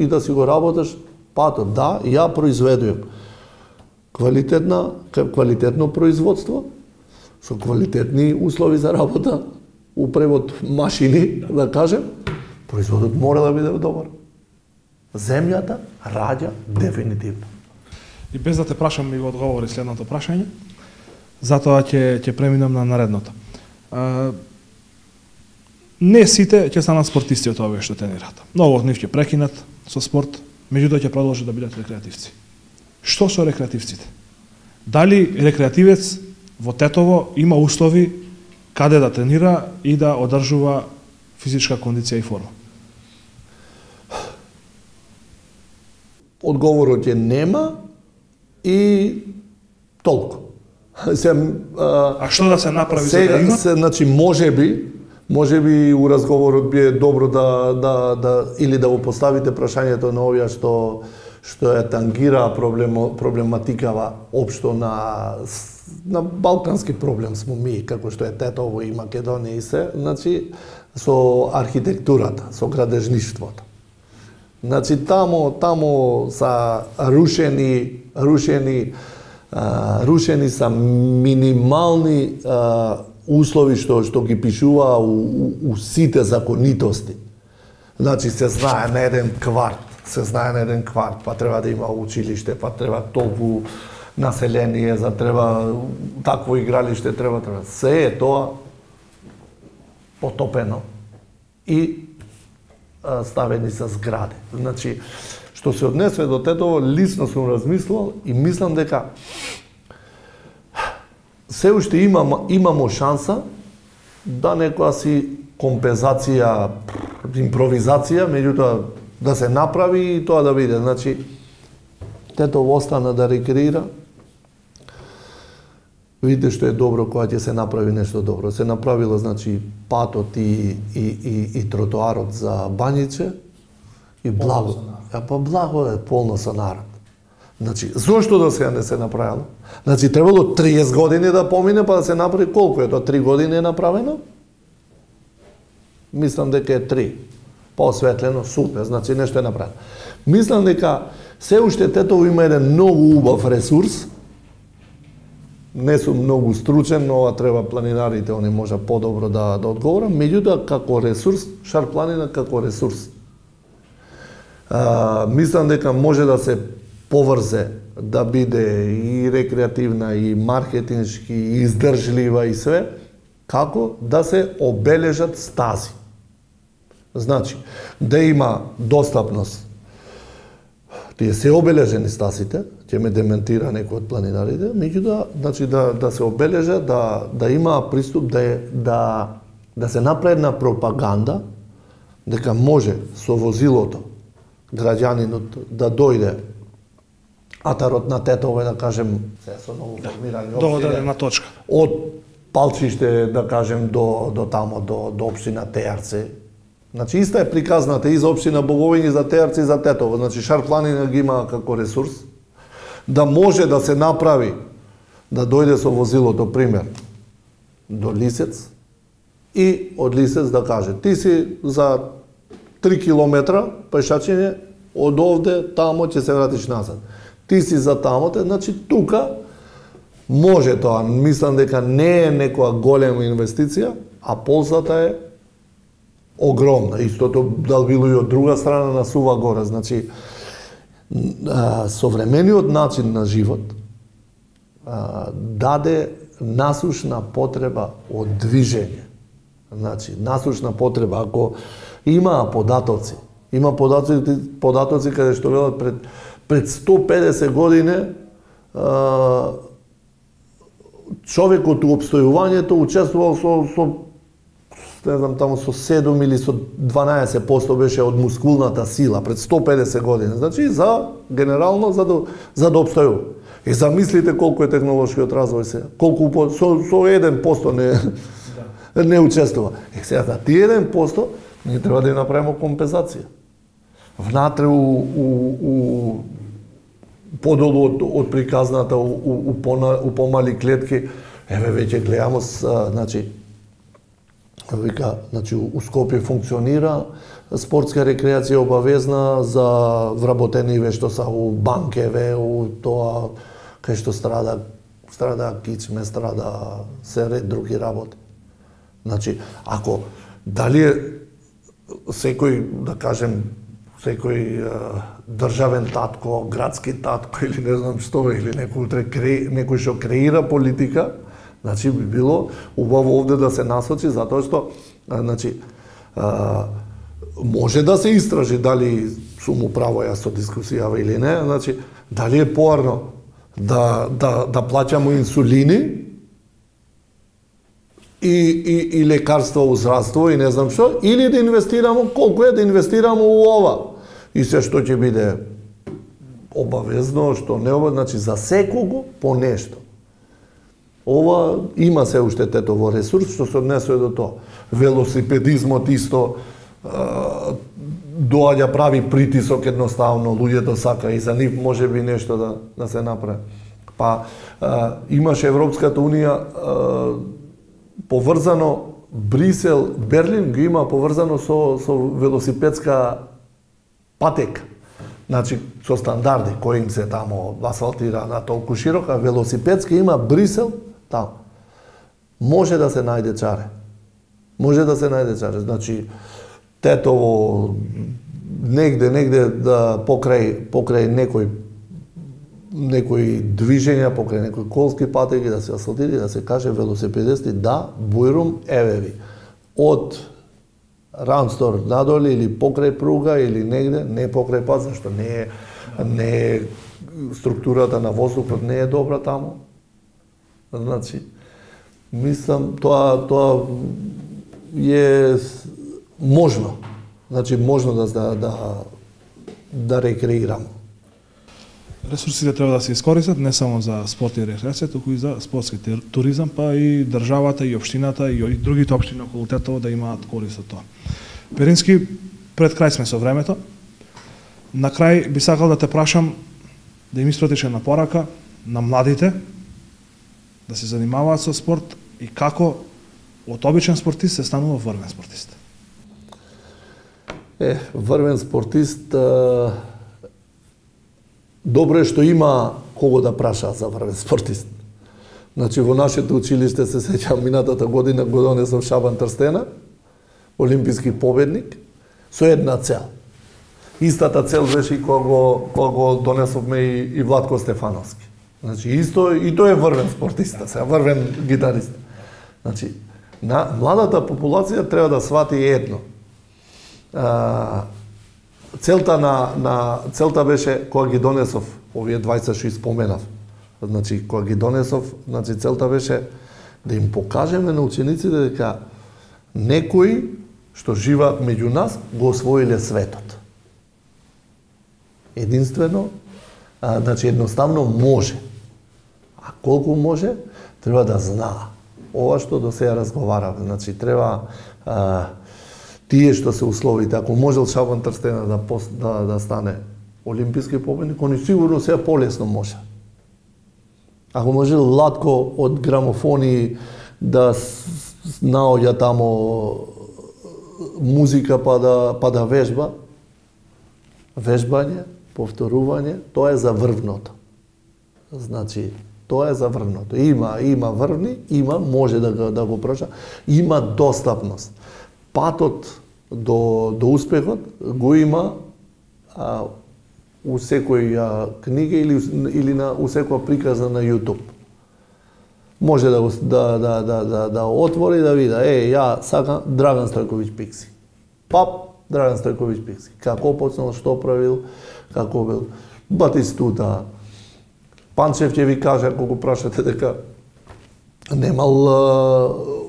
да си го работиш патот. Да, ја произведувам квалитетно производство, со квалитетни услови за работа, упревод машини, да кажем, производот мора да биде добар. Земјата раѓа дефинитивно. И без да те прашам, ми го одговори следното прашање, затоа ќе преминам на наредното. Не сите ќе станат спортисти од овие што тренираат. Многу од нив ќе прекинат со спорт, меѓутоа ќе продолжат да бидат рекреативци. Што со рекреативците? Дали рекреативец во Тетово има услови каде да тренира и да одржува физичка кондиција и форма? Одговорот е нема и толку. А што да се направи за да има? Значи, може би у разговорот би е добро или да го поставите прашањето на овие што ја тангира проблематикава општо на балкански проблем смо ми, како што е Тетово и Македонија и се, значи со архитектурата, со градежништвото. Значи таму са рушени са минимални услови што ги пишува у сите законитости. Значи се знае на еден кварт, па треба да има училиште, па треба толку население, треба такво игралиште, треба. Се е тоа потопено и ставени са згради. Значи, што се однесува до Тетово, лично сум размислувал и мислам дека се уште имамо шанса да некоја си компензација, импровизација, меѓутоа да се направи и тоа да биде. Значи, Тетово остана да рекреира. Видите што е добро кога ќе се направи нешто добро. Се направило, значи, патот и тротоарот за Бањиче и благо. Па благо е полно со народ. Значи, зошто до сега не се направило? Значи, требало 30 години да помине, па да се направи колку е тоа? 3 години е направено? Мислам дека е 3. Поосветлено, супер, значи нешто е направено. Мислам дека се уште Тетово има еден многу убав ресурс. Не сум многу стручен, но ова треба планинарите, они може подобро да одговорам. Меѓутоа, како ресурс, Шар планина како ресурс. Мислам дека може да се поврзе, да биде и рекреативна, и маркетиншки, и издржлива и све, како да се обележат стази. Значи, да има достапност. Тие се обележени стасите, ќе ме дементира некој од планинарите, меѓутоа, значи да се обележа, да има приступ, да се направи една пропаганда, дека може со возилото граѓанинот да дојде атарот на Тетово, да кажем, со ново формирани до одредена точка. Од Палчиште, да кажем, до тамо, до општина Тејарци. Значи, иста е приказната и за општина Боговиња, и за Тејарци, и за Тетово. Значи, Шар планина ги има како ресурс. Да може да се направи, да дојде со возилото, пример, до Лисец, и од Лисец да каже, ти си за 3 километра пешачење, од овде, тамо ќе се вратиш назад. Ти си за тамоте, значи тука може тоа. Мислам дека не е некоја голема инвестиција, а ползата е огромна. Истото да било и од друга страна на Сува гора. Значи, современиот начин на живот даде насушна потреба од движење. Значи, насушна потреба, ако има податоци каде што велат пред 150 години човекот у опстојувањето учествувал со не знам, таму со 7 или со 12% беше од мускулната сила пред 150 години. Значи, генерално, за да обстојува. И замислите колку е технолошкиот развој сега. Колку со 1% не учествува. Сега, за тие 1% ние треба да ја направиме компензација. Внатре у подолу од приказната, у помали клетки, веќе гледаме, значи, у Скопје функционира спортска рекреација обавезна за вработени што са у банкеве, у тоа кај што страда кичме, страда се ред други работи. Значи, ако дали секој, да кажем, секој државен татко, градски татко или не знам што, или некој што креира политика, значи би било убаво овде да се насочи, затоа што значи може да се истражи дали сум управо јас со дискусијава или не, значи дали е поарно да плаќамо инсулини и лекарства у здравство и не знам што, или да инвестираме, колку е да инвестираме у ова. И се што ќе биде обавезно, што не обавезно, значи за секого по нешто. Ова има се уште тетово ресурс што се однесува до тоа. Велосипедизмот исто доаѓа, прави притисок едноставно, луѓето сака и за нив може би нешто да се направи. Па имаше Европската унија поврзано Брисел, Берлин ги има поврзано со велосипедска патека. Значи, со стандарди кои им се тамо асфалтира на толку широка, велосипедска има Брисел таму. Може да се најде чаре. Може да се најде чаре. Значи, Тетово, негде да покрај некои движења, покрај некои колски патеки да се асфалтира, да се каже велосипедисти, да, бујрум, еве ви. Од Ранстор надоле или покрај пруга или негде, не покрај пат, зашто не е структурата на воздухот не е добра таму. Значи, мислам тоа е можно. Значи можно да рекреирамо. Ресурсите треба да се искористат не само за спорт и рекреација, туку и за спортски туризам, па и државата и општината и другите општини околу Тетово да имаат корист од тоа. Перински, пред крај сме со времето. На крај би сакал да те прашам да им испратиш една порака на младите да се занимаваат со спорт и како од обичен спортист се станува врвен спортист. Врвен спортист, добро е што има кого да праша за врвен спортист. Значи, во нашето училиште се сеќавам минатата година го донесов Шабан Трстена, олимписки победник, со една цел. Истата цел беше и кога го донесовме и Владко Стефановски. Значи, исто и тој е врвен спортиста, сега врвен гитарист. Значи, младата популација треба да свати едно. Целта беше кога ги донесов овие 20 што споменав. Значи кога ги донесов, значи целта беше да им покажеме на учениците дека некои што живеат меѓу нас го освоиле светот. Единствено, значи едноставно може. А колку може, треба да знаа. Ова што до сега разговаравме, значи треба тие што се условите, ако можел Шабан Трстена да стане олимписки победник, они сигурно сега полесно може. Ако можел Владко од грамофони да наоѓа тамо музика па да вежба, вежбање, повторување, тоа е за врвното. Значи, тоа е за врвното. Има врвни, може да го проша, има достапност. Патот до успехот го има у секоја книга или у секоја приказна на YouTube. Може да отвори да види, ја сакам Драган Стојковиќ Пикси. Пап Драган Стојковиќ Пикси. Како почнал, што правил, како бил Батистута. Панчев ќе ви каже, ако го прашате дека немал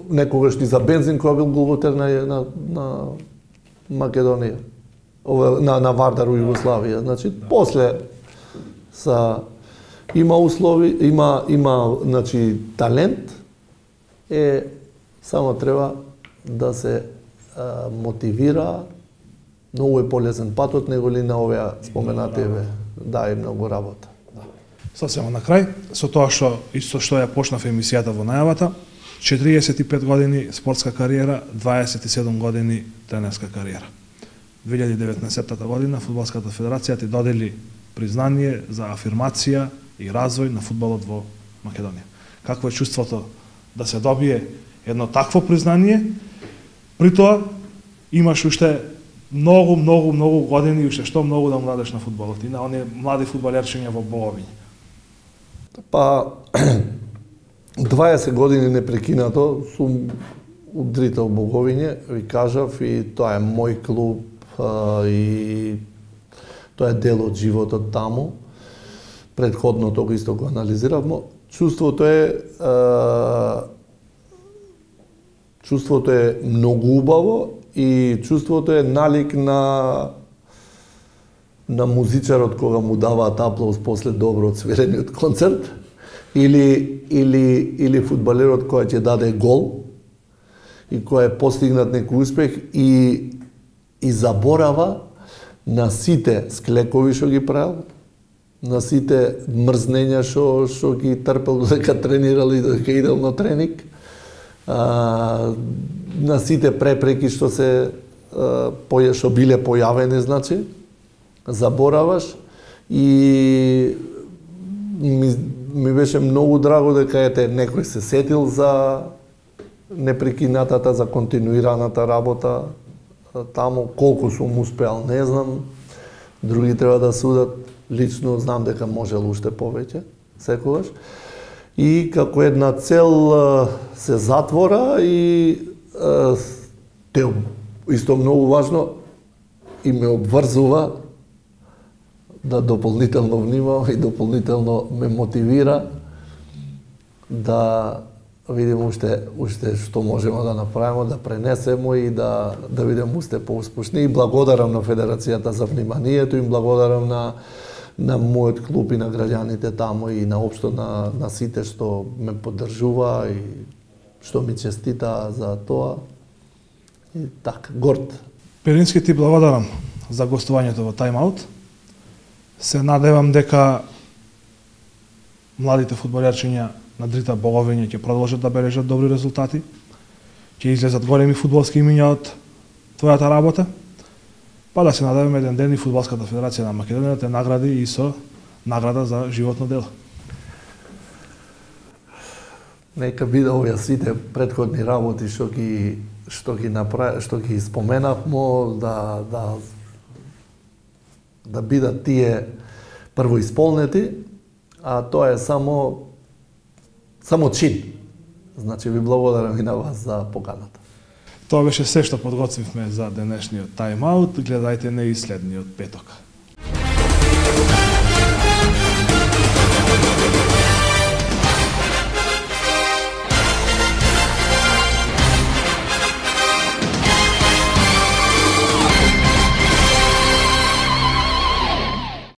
некогаш ни за бензин кој бил голвотер на Македонија. На Вардар у Југославија. Значи, после има услови, има значи талент, само треба да се мотивира. Многу е полезен патот него ли на овие споменати да и многу работа. Сосема на крај, со тоа што ја почнав емисијата во најавата, 45 години спортска кариера, 27 години тренерска кариера. 2019 година Фудбалската федерација ти додели признание за афирмација и развој на фудбалот во Македонија. Какво е чувството да се добие едно такво признание? При тоа имаш уште многу години и уште што многу да младеш на фудбалот и на оние млади фудбалерчиња во Боговиње. Па 20 години непрекинато сум удрител Боговиње, ви кажав, и тоа е мој клуб и тоа е дел од животот таму. Предходно тоа исто го анализиравме. Чувството е многу убаво и чувството е налик на музичарот кога му даваат аплауз после добро одсвирениот концерт или фудбалерот кој ќе даде гол и кој е постигнат некој успех и заборава на сите склекови што ги правил, на сите мрзнења што ги трпел додека тренирал и додека идел на тренинг, на сите препреки што биле појавени, значи, забораваш и ми беше многу драго дека некој се сетил за непрекинатата, за континуираната работа таму. Колку сум успеал, не знам. Други треба да судат. Лично знам дека можел уште повеќе, секогаш. И како една цел се затвора и исто многу важно и ме обврзува да дополнително внимавам и дополнително ме мотивира да видим уште што можеме да направиме, да пренесеме и да видиме уште поуспешни. И благодарам на Федерацијата за вниманието, и благодарам на мојот клуб и на граѓаните таму и наопшто на сите што ме поддржува и што ми честита за тоа. И така, горд. Перински, ти благодарам за гостувањето во Time Out. Се надевам дека младите фудбалерчиња на Дрита Боговиње ќе продолжат да бележат добри резултати, ќе излезат големи фудбалски имиња од твојата работа, па да се надеваме еден ден и Фудбалската федерација на Македонија те награди и со награда за животно дело. Нека биде овие сите претходни работи што ги споменавме, да бидат тие прво исполнети, а тоа е само чин. Значи, ви благодарам и на вас за поканата. Тоа беше се што подготвивме за денешниот Time Out. Гледајте не и следниот петок.